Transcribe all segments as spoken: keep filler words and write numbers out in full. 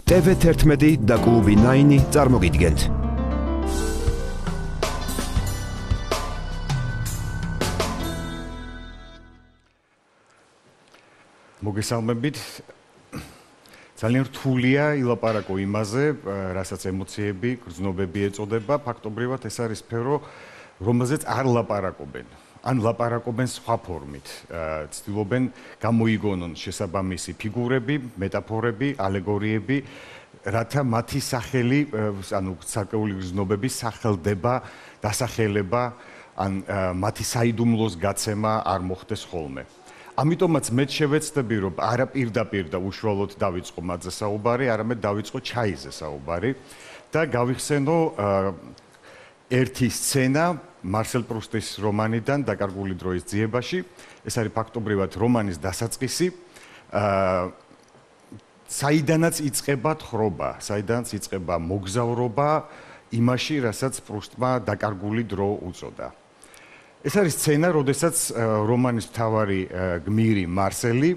ტევ თერთმეტი და კლუბი ნაინი წარმოგიდგენთ. მოგესალმებით. ძალიან რთულია ილაპარაკო იმაზე, რასაც ემოციები, გრძნობები ეწოდება, ფაქტობრივად ეს არის სფერო, რომელზეც არ ლაპარაკობენ. ან ლაპარაკობენ სხვა ფორმით. ცდილობენ გამოიგონონ შესაბამისი ფიგურები, მეტაფორები, ალეგორიები, რათა მათი სახელი, ანუ ცალკეული გრძნობების სახელდება, დასახელება, ან მათი საიდუმლოს გაცემა არ მოხდეს ხოლმე. ამიტომაც მე შევეცდები, რომ არა პირდაპირ და უშუალოდ დავიწყო მათზე საუბარი, არამედ დავიწყო ჩაიზე საუბარი და გავიხსენო ერთი სცენა მარსელ პრუსტის რომანიდან დაკარგული დროის ძიებაში. ეს არის ფაქტობრივად რომანის დასაწყისი, საიდანაც იწყება თხრობა, საიდანაც იწყება მოგზაურობა იმაში, რასაც პრუსტმა დაკარგული დრო უწოდა. ეს არის სცენა, როდესაც რომანის მთავარი გმირი მარსელი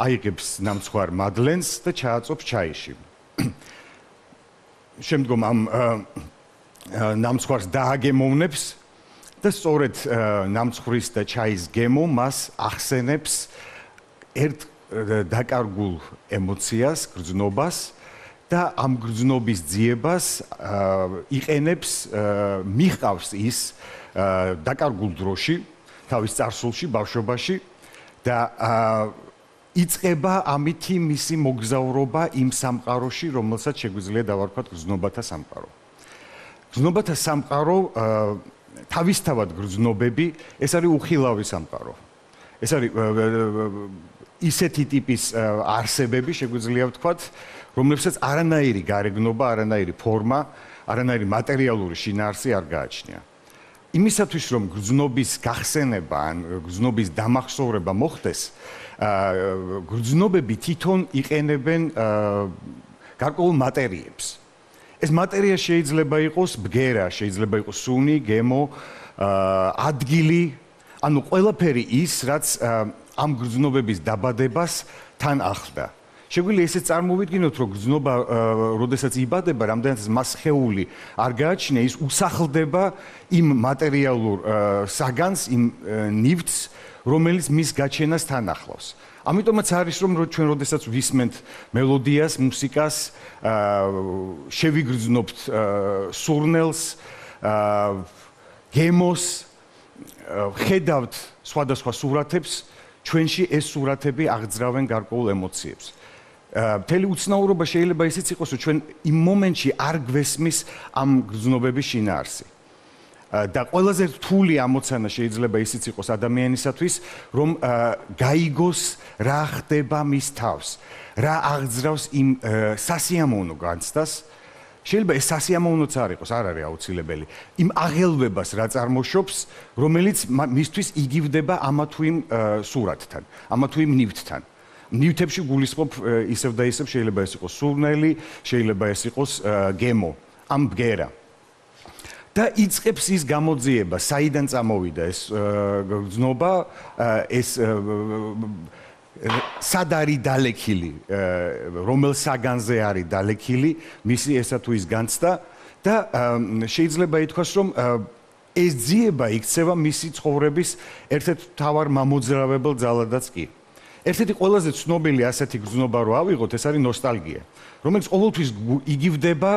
აიღებს ნამცხვარ მადლენს და ჩააწობს ჩაიში. შემდგომ ამ ნამცხვარს დააგემოვნებს და სწორედ ნამცხვრის და ჩაის გემო მას ახსენებს ერთ დაკარგულ ემოციას, გრძნობას და ამ გრძნობის ძიებას იყენებს, მიჰყავს ის დაკარგულ დროში, თავის წარსულში, ბავშვობაში და იწყება ამითი მისი მოგზაურობა იმ სამყაროში, რომელსაც შეგვიძლია დავარქვათ გრძნობათა სამყარო. გრძნობათა სამყარო თავისთავად გრძნობები, ეს არის უხილავი სამყარო. ეს არის ისეთი ტიპის არსებები, შეგვიძლია ვთქვათ, რომლებსაც არანაირი გარეგნობა, არანაირი ფორმა, არანაირი მატერიალური შინაარსი არ გააჩნია. იმისათვის, რომ გრძნობის გახსენება ან გრძნობის დამახსოვრება მოხდეს, გრძნობები თვითონ იყენებენ გარკვეულ მატერიებს. ეს მატერია შეიძლება იყოს ბგერა, შეიძლება იყოს სუნი, გემო, ადგილი, ანუ ყველაფერი ის, რაც ამ გრძნობების დაბადებას თან ახლდა. შეგვიძლია ესე წარმოვიდგინოთ, რომ გრძნობა, როდესაც იბადება, რამდენიც მას სხეული არ გააჩნია, ის უსახლდება იმ მატერიალურ საგანს, იმ ნივთს, რომელიც მის გაჩენას თან ახლავს. ამიტომაც არის, რომ ჩვენ როდესაც ვისმენთ მელოდიას, მუსიკას, შევიგრძნობთ სურნელს, გემოს, ხედავთ სხვადასხვა სურათებს, ჩვენში ეს სურათები აღძრავენ გარკვეულ ემოციებს. მთელი უცნაურობა შეიძლება ისიც იყოს, რომ ჩვენ იმ მომენტში არ გვესმის ამ გრძნობების შინაარსი. და ყველაზე რთული ამოცანა შეიძლება ისიც იყოს ადამიანისათვის, რომ გაიგოს რა ხდება მის თავს, რა აღძრავს იმ სასიამოვნო განცდას. შეიძლება ეს სასიამოვნოც არ იყოს, არ არის აუცილებელი. იმ აღელვებას რა წარმოშობს, რომელიც მისთვის იგივდება ამა თუ იმ სურათთან, ამა თუ იმ ნივთთან. ნივთებში გულისხმობ ისევ და ისევ, შეიძლება ეს იყოს სურნელი, შეიძლება ეს იყოს გემო, ამ ბგერა. და იწყებს ის გამოძიება, საიდან წამოვიდა ეს გრძნობა, ეს სად არის დალექილი, რომელ საგანზე არის დალექილი, მისი ესა თუ ის განცდა და შეიძლება ითქვას, რომ ეს ძიება იქცევა მისი ცხოვრების ერთ-ერთ მთავარ მამოძრავებელ ძალადაც კი. ერთ-ერთი ყველაზე ცნობილი ასეთი გრძნობა რო ავიღოთ, ეს არის ნოსტალგია, რომელიც ყოველთვის იგივდება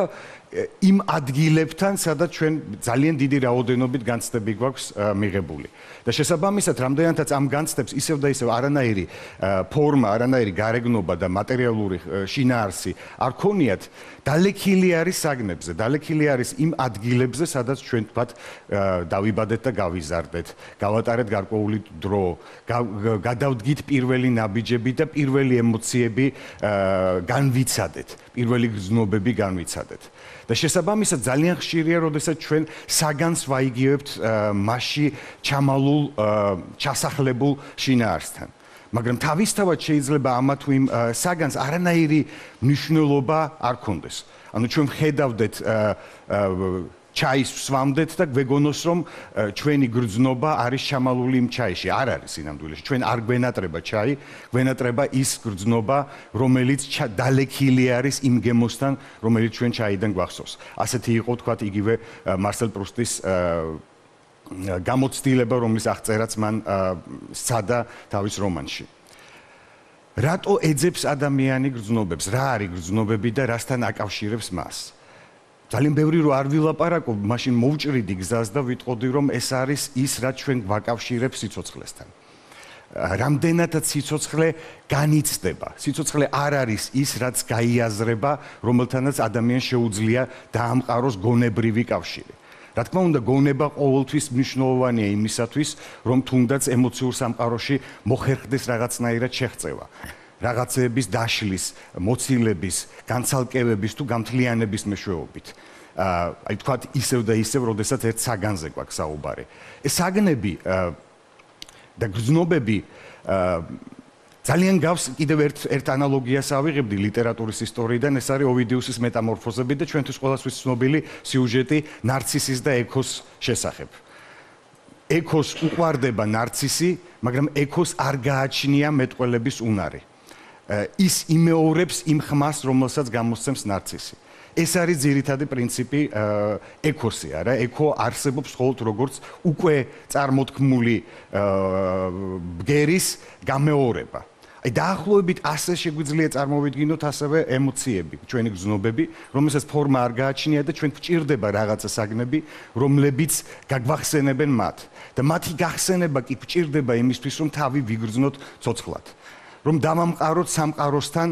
იმ ადგილებთან, სადაც ჩვენ ძალიან დიდი რაოდენობით განცდები გვაქვს მიღებული. და შესაბამისად, რამდენადაც ამ განცდებს ისევ და ისევ არანაირი ფორმა, არანაირი გარეგნობა და მატერიალური შინაარსი არ ქონიათ, დალექილი არის საგნებზე, დალექილი არის იმ ადგილებზე, სადაც ჩვენ თქვათ დავიბადეთ და გავიზარდეთ, გავატარეთ გარკვეული დრო, გადავდგით პირველი ნაბიჯები და პირველი ემოციები განვიცადეთ, პირველი გრძნობები განვიცადეთ. და შესაბამისად ძალიან ხშირია, როდესაც ჩვენ საგანს ვაიგივებთ მასში ჩამალულ, ჩასახლებულ შინაარსთან. მაგრამ თავისთავად შეიძლება ამა თუ იმ საგანს არანაირი მნიშვნელობა არ ქონდეს. ანუ ჩვენ ვხედავდეთ ჩაის ვსვამდეთ და გვეგონოს რომ ჩვენი გრძნობა არის ჩამალული იმ ჩაიში. არ არის სინამდვილეში. ჩვენ არ გვენატრება ჩაი, გვენატრება ის გრძნობა, რომელიც დალექილი არის იმ გემოსთან, რომელიც ჩვენ ჩაიდან გვახსოვს. ასეთი იყო თქვათ იგივე მარსელ პრუსტის გამოცდილება, რომლის აღწერაც მან სცადა თავის რომანში. რატო ეძებს ადამიანი გრძნობებს? რა არის გრძნობები და რასთან აკავშირებს მას? ძალიან ბევრი რო არ ვილაპარაკობ, მაშინ მოვჭრიდი გზას და ვიტყოდი რომ ეს არის ის, რაც ჩვენ გვაკავშირებს სიცოცხლესთან. რამდენადაც სიცოცხლე განიცდება. სიცოცხლე არ არის ის, რაც გაიაზრება, რომელთანაც ადამიანს შეუძლია დაამყაროს გონებრივი კავშირი. რა თქმა უნდა, გონება ყოველთვის მნიშვნელოვანია იმისათვის, რომ თუნდაც ემოციურ სამყაროში მოხერხდეს რაღაცნაირად შეღწევა. რაღაცეების დაშლის, მოცილების, განცალკევების თუ გამთლიანების მეშვეობით. აი თქვათ ისევ და ისევ, როდესაც ერთ საგანზე გვაქვს საუბარი. ეს საგნები და გრძნობები ძალიან გავს კიდევ ერთ ერთ ანალოგიას ავიღებდი ლიტერატურის ისტორიიდან, ეს არის ოვიდიუსის მეტამორფოზები და ჩვენთვის ყველასთვის ცნობილი სიუჟეტი ნარცისის და ექოს შესახებ. ექოს უყვარდება ნარცისი, მაგრამ ექოს არ გააჩნია მეტყველების უნარი. ის იმეორებს იმ ხმას, რომელსაც გამოსცემს ნარცისი. ეს არის ძირითადი პრინციპი ექოსი, არა? ექო არსებობს მხოლოდ როგორც უკვე წარმოთქმული ბგერის გამეორება. აი დაახლოებით ასე შეგვიძლია წარმოვიდგინოთ ასევე ემოციები, ჩვენი გრძნობები, რომელსაც ფორმა არ გააჩნია და ჩვენ გვჭირდება რაღაცა საგნები, რომლებიც გაგვახსენებენ მათ. და მათი გახსენება კი გვჭირდება იმისთვის, რომ თავი ვიგრძნოთ ცოცხლად. რომ დავამყაროთ სამყაროსთან,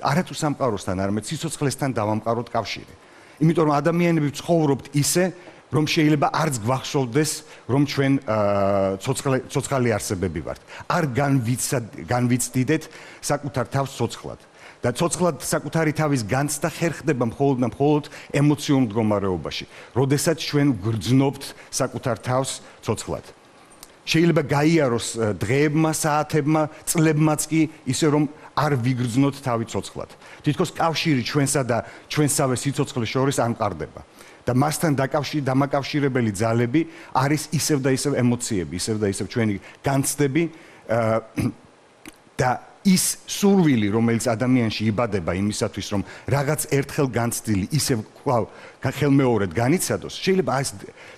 არათუ სამყაროსთან, არამედ სიცოცხლესთან დავამყაროთ კავშირი. იმიტომ რომ ადამიანები ცხოვრობთ ისე, რომ შეიძლება არც გვახსოვდეს, რომ ჩვენ ცოცხალი არსებები ვართ. არ განვიცდიდეთ საკუთარ თავს ცოცხლად. და ცოცხლად საკუთარი თავის განცდა ხერხდება მხოლოდ და მხოლოდ ემოციურ მდგომარეობაში, როდესაც ჩვენ გვგრძნობთ საკუთარ თავს ცოცხლად. შეიძლება გაიაროს დღეებმა, საათებმა, წლებმაც კი ისე რომ არ ვიგრძნოთ თავი ცოცხლად. თითქოს კავშირი ჩვენსა და ჩვენსავე სიცოცხლეს შორის არ მყარდება. და მასთან დამაკავშირებელი ძალები არის ისევ და ისევ ემოციები, ისევ და ისევ ჩვენი განცდები და ის სურვილი, რომელიც ადამიანში იბადება იმისათვის, რომ რაღაც ერთხელ განცდილი ისევ კვლავ ხელმეორედ განიცადოს, შეიძლება ეს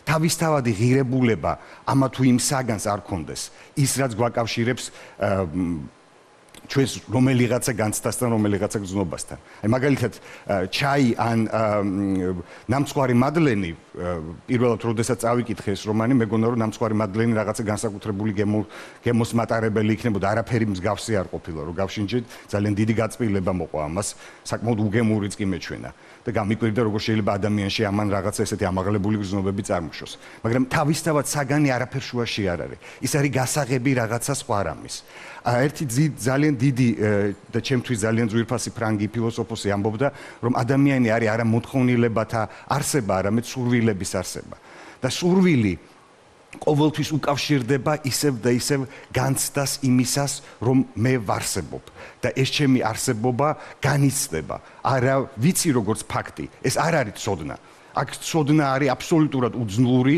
თავისთავადი ღირებულება ამა თუ იმ საგანს არ ქონდეს. ის რაც გვაკავშირებს ჩვენს რომელიღაცა განცდასთან, რომელიღაცა გრძნობასთან. აი მაგალითად, ჩაი ან ნამცხვარი მადლენი, პირველად როდესაც წავიკითხე ეს რომანი, მეგონა რომ ნამცხვარი მადლენი რაღაცა განსაკუთრებული გემოს მატარებელი იქნებოდა, არაფერი მსგავსი არ ყოფილა, რომ გავშინჯეთ, ძალიან დიდი გაწყვილება მოყვა ამას, საკმაოდ უგემურიც კი მეჩვენა. და გამიკვირდა როგორ შეიძლება ადამიანში ამან რაღაცა ესეთი ამაღლებული გრძნობები წარმოშოს. მაგრამ თავისთავად საგანი არაფერ შუაში არ არის. ის არის გასაღები რაღაცა სხვა რამის. ერთი ძალიან დიდი და ჩემთვის ძალიან ძვირფასი ფრანგი ფილოსოფოსი ამბობდა, რომ ადამიანი არის არა მოთხოვნილებათა არსება, არამედ სურვილების არსება. და სურვილი ყოველთვის უკავშირდება ისევ და ისევ განცდას იმისას, რომ მე ვარსებობ და ეს ჩემი არსებობა განიცდება. არა ვიცი როგორც ფაქტი, ეს არ არის ცოდნა. აქ ცოდნა არის აბსოლუტურად უძნური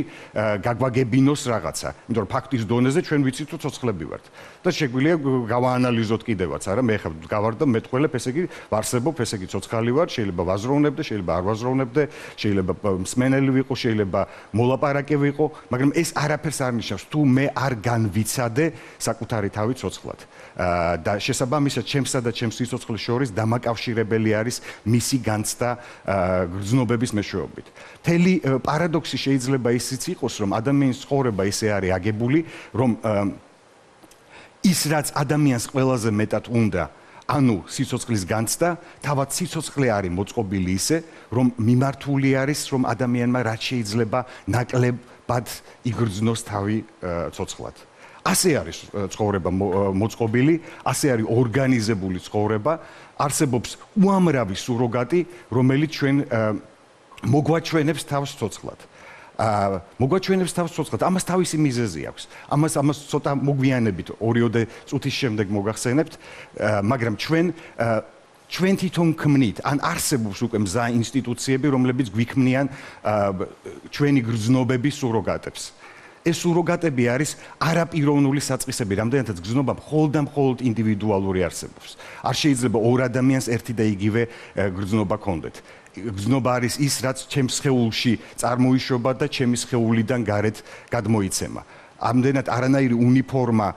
გაგვაგებინოს რაღაცა. იმიტომ რომ ფაქტის დონეზე ჩვენ ვიცით რომ ცოცხლები ვართ. და შეგვიძლია გავაანალიზოთ კიდევაც, არა? მე ხა გავარ და მეტყველებ, ესე იგი ვარსებობ, ესე იგი ცოცხალი ვარ, შეიძლება ვაზროვნებდე, შეიძლება არ ვაზროვნებდე, შეიძლება მსმენელი ვიყო, შეიძლება მოლაპარაკე ვიყო, მაგრამ ეს არაფერს არ ნიშნავს, თუ მე არ განვიცადე საკუთარი თავი ცოცხლად. და შესაბამისად, ჩემსა და ჩემს სიცოცხლის შორის დამაკავშირებელი არის მისი განცდა გრძნობების მეშვეობით. მთელი პარადოქსი შეიძლება ისიც იყოს, რომ ადამიანის ცხოვრება ისე არის აგებული, რომ ის რაც ადამიანს ყველაზე მეტად უნდა, ანუ სიცოცხლის განცდა, თავად სიცოცხლე არის მოწყობილი ისე, რომ მიმართული არის, რომ ადამიანმა რაც შეიძლება ნაკლებად იგრძნოს თავი ცოცხლად. ასე არის ცხოვრება მოწყობილი, ასე არის ორგანიზებული ცხოვრება, არსებობს უამრავი სუროგატი, რომელიც ჩვენ მოგვაჩვენებს თავს ცოცხლად. მოგვაჩვენებს თავს ცოცხლად. ამას თავისი მიზეზი აქვს. ამას ამას ცოტა მოგვიანებით ორიოდე წუთის შემდეგ მოგახსენებთ, მაგრამ ჩვენ ჩვენ თვითონ ქმნით, ან არსებობს უკვე მზა ინსტიტუციები, რომლებიც გვიქმნიან ჩვენი გრძნობების სუროგატებს. ეს სუროგატები არის არაპიროვნული საწყისები, რამდენადაც გრძნობა მხოლოდ და მხოლოდ ინდივიდუალური არსებობს. არ შეიძლება ორ ადამიანს ერთი და იგივე გრძნობა ჰქონდეთ. გრძნობა არის ის, რაც ჩემს სხეულში წარმოიშობა და ჩემი სხეულიდან გარეთ გადმოიცემა. ამდენად არანაირი უნიფორმა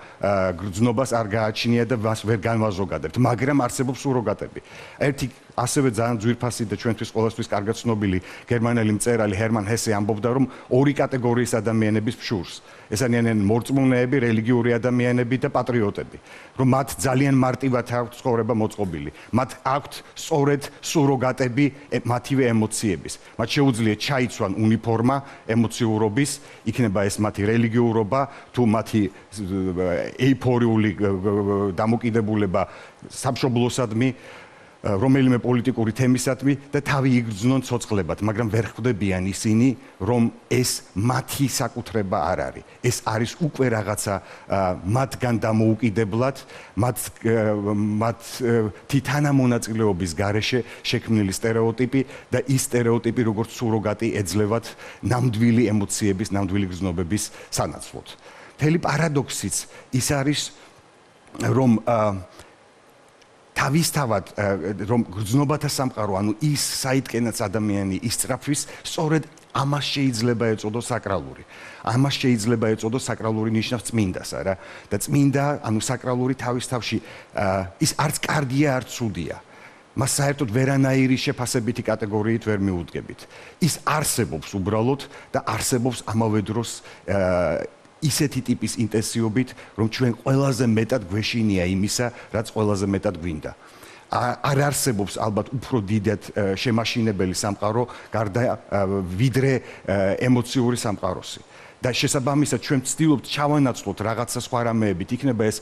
გრძნობას არ გააჩნია და მას ვერ განვაზოგადებთ, მაგრამ არსებობს სუროგატები. ერთი ასევე ძალიან ძვირფასი და ჩვენთვის ყოველთვის კარგად ცნობილი გერმანელი მწერალი ჰერმან ჰესე ამბობდა, რომ ორი კატეგორიის ადამიანების ფშურს. ეს არიან მორწმუნეები, რელიგიური ადამიანები და პატრიოტები. რომ მათ ძალიან მარტივად აქვთ ცხოვრება მოწყობილი. მათ აქვთ სწორედ სუროგატები მათივე ემოციების. მათ შეუძლიათ ჩაიცვან უნიფორმა ემოციურობის, იქნება ეს მათი რელიგიურობა, თუ მათი ეიფორიული დამოკიდებულება სამშობლოსადმი, რომელიმე პოლიტიკური თემისადმი და თავი იგრძნონ ცოცხლებად, მაგრამ ვერ ხვდებიან ისინი, რომ ეს მათი საკუთრება არ არის. ეს არის უკვე რაღაცა მათგან დამოუკიდებლად, მათ მათი თანამონაწილეობის გარეშე შექმნილი სტერეოტიპი და ის სტერეოტიპი როგორც სუროგატი ეძლევათ ნამდვილი ემოციების, ნამდვილი გრძნობების სანაცვლოდ. მთელი პარადოქსიც ის არის, რომ თავისთავად რომ გრძნობათა სამყარო, ანუ ის საიდკენაც ადამიანი ისწრაფვის, სწორედ ამას შეიძლება ეწოდოს საკრალური. ამას შეიძლება ეწოდოს საკრალური ნიშნავს წმინდას, არა? და წმინდა, ანუ საკრალური თავის თავში ის არც კარგია, არც ცუდია. მას საერთოდ ვერანაირი შეფასებითი კატეგორიით ვერ მიუდგებით. ის არსებობს უბრალოდ და არსებობს ამავე დროს ისეთი ტიპის ინტენსივობით, რომ ჩვენ ყველაზე მეტად გვეშინია იმისა, რაც ყველაზე მეტად გვინდა. არ არსებობს ალბათ უფრო დიდად შემაშინებელი სამყარო, გარდა ვიდრე ემოციური სამყაროსი. და შესაბამისად ჩვენ ვცდილობთ ჩავანაცვლოთ რაღაცა სხვა რამეებით, იქნება ეს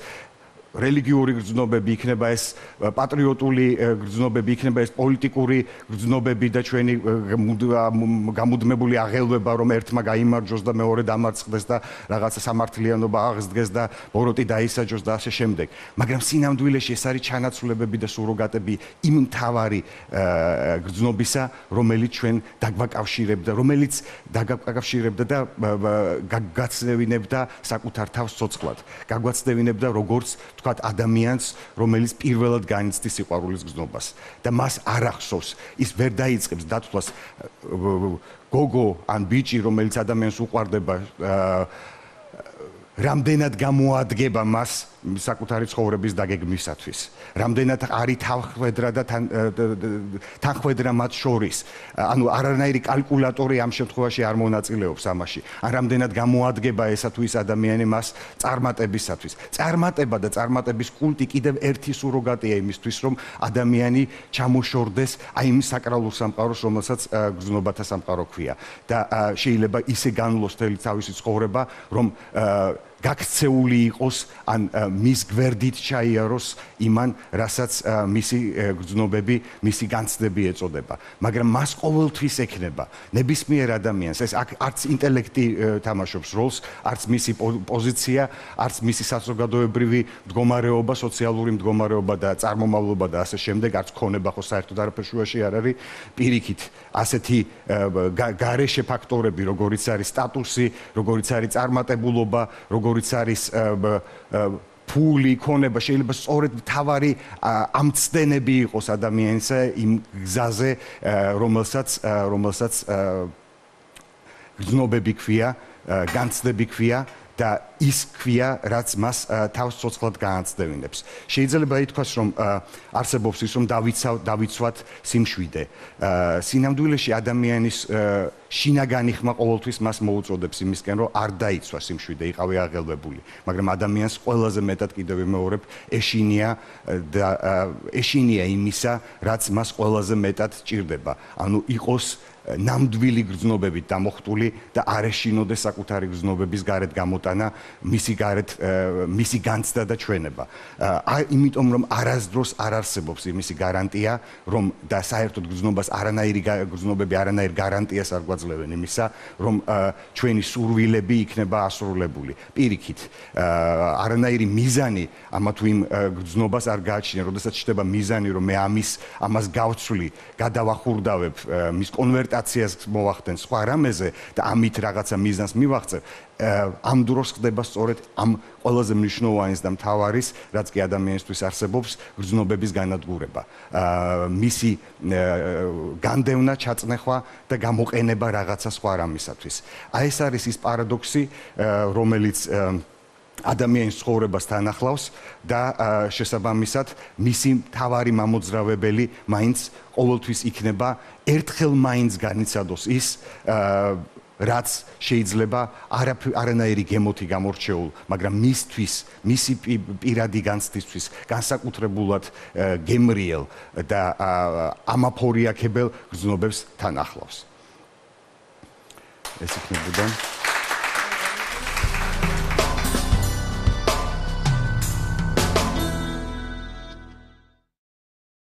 რელიგიური გრძნობები, იქნება ეს პატრიოტული გრძნობები, იქნება ეს პოლიტიკური გრძნობები და ჩვენი გამუდმებული აღელვება, რომ ერთმა გაიმარჯვოს და მეორე დამარცხდეს და რაღაცა სამართლიანობა აღსდგეს და ბოროტი დაისაჯოს და ასე შემდეგ. მაგრამ სინამდვილეში ეს არის ჩანაცვლებები და სუროგატები იმ მთავარი გრძნობისა, რომელიც ჩვენ დაგვაკავშირებდა, რომელიც დაგვაკავშირებდა და გაგაცდევინებდა საკუთარ თავს ცოცხლად. გაგვაცდევინებდა როგორც თქვათ ადამიანს, რომელიც პირველად განიცდის სიყვარულის გრძნობას და მას არ ახსოვს, ის ვერ დაიწყებს დათვლას გოგო ან ბიჭი, რომელიც ადამიანს უყვარდება, რამდენად გამოადგება მას საკუთარი ცხოვრების დაგეგმვისათვის. რამდენად არის თანხმედრა და თანხმედრა მათ შორის. ანუ არანაირი კალკულატორი ამ შემთხვევაში არ მონაწილეობს ამაში. ან რამდენად გამოადგება ესა თუ ის ადამიანი მას წარმატებისათვის. წარმატება და წარმატების კულტი კიდევ ერთი სუროგატია იმისთვის, რომ ადამიანი ჩამოშორდეს აი იმ საკრალურ სამყაროს, რომელსაც გრძნობათა სამყარო ქვია. და შეიძლება ისე განვლოს თელი თავისი ცხოვრება, რომ გაქცეული იყოს ან მის გვერდით ჩაიაროს იმან, რასაც მისი გრძნობები, მისი განცდები ეწოდება. მაგრამ მას ყოველთვის ექნება ნებისმიერ ადამიანს, ეს არც ინტელექტი თამაშობს როლს, არც მისი პოზიცია, არც მისი საზოგადოებრივი მდგომარეობა, სოციალური მდგომარეობა და წარმომავლობა და ასე შემდეგ, არც ქონება ხო საერთოდ არაფერ შუაში არ არის. პირიქით, ასეთი გარეშე ფაქტორები, როგორიც არის სტატუსი, როგორიც არის წარმატებულობა, როგორიც არის ფული, ქონება, შეიძლება სწორედ მთავარი ამცდენები იყოს ადამიანის იმ გზაზე, რომელსაც რომელსაც გრძნობები ქვია, განცდები ქვია და ის ქვია, რაც მას თავს ცოცხლად გააცდევინებს. შეიძლება ითქვას, რომ არსებობს ის, რომ დავიცვათ სიმშვიდე. სინამდვილეში ადამიანის შინაგანი ხმა ყოველთვის მას მოუწოდებს იმისკენ, რომ არ დაიცვა სიმშვიდე, იყავი აღელვებული. მაგრამ ადამიანს ყველაზე მეტად კიდევ ვიმეორებ, ეშინია და ეშინია იმისა, რაც მას ყველაზე მეტად სჭირდება. ანუ იყოს ნამდვილი გრძნობებით დამოხტული და არ ეშინოდეს საკუთარი გრძნობების გარეთ გამოტანა მისი გარეთ მისი განცდა და ჩვენება. იმიტომ რომ არასდროს არ არსებობს იმისი გარანტია, რომ და საერთოდ გრძნობას არანაირი გრძნობები არანაირ გარანტიას არ გვაძლევენ იმისა, რომ ჩვენი სურვილები იქნება ასრულებული. პირიქით, არანაირი მიზანი ამა თუ იმ გრძნობას არ გააჩნია, როდესაც ჩნდება მიზანი, რომ მე ამის ამას გავცვლი, გადავახურდავებ, მის კონვერტაციას მოვახდენ სხვა რამეზე და ამით რაღაცა მიზანს მივაღწევ, ამ დროს ხდება სწორედ ამ ყველაზე მნიშვნელოვანის და მთავარის, რაც კი ადამიანისთვის არსებობს, გრძნობების განადგურება. მისი განდევნა, ჩაწნეხვა და გამოყენება რაღაცა სხვა რამისათვის. აი ეს არის ის პარადოქსი, რომელიც ადამიანის ცხოვრებას თანახლავს და შესაბამისად მისი მთავარი მამოძრავებელი მაინც ყოველთვის იქნება ერთხელ მაინც განიცადოს ის რაც შეიძლება არანაირი გემოთი გამორჩეულ, მაგრამ მისთვის, მისი პირადი განცდისთვის განსაკუთრებულად გემრიელ და ამაფორიაქებელ გრძნობებს თან ახლავს. ეს იქნებოდა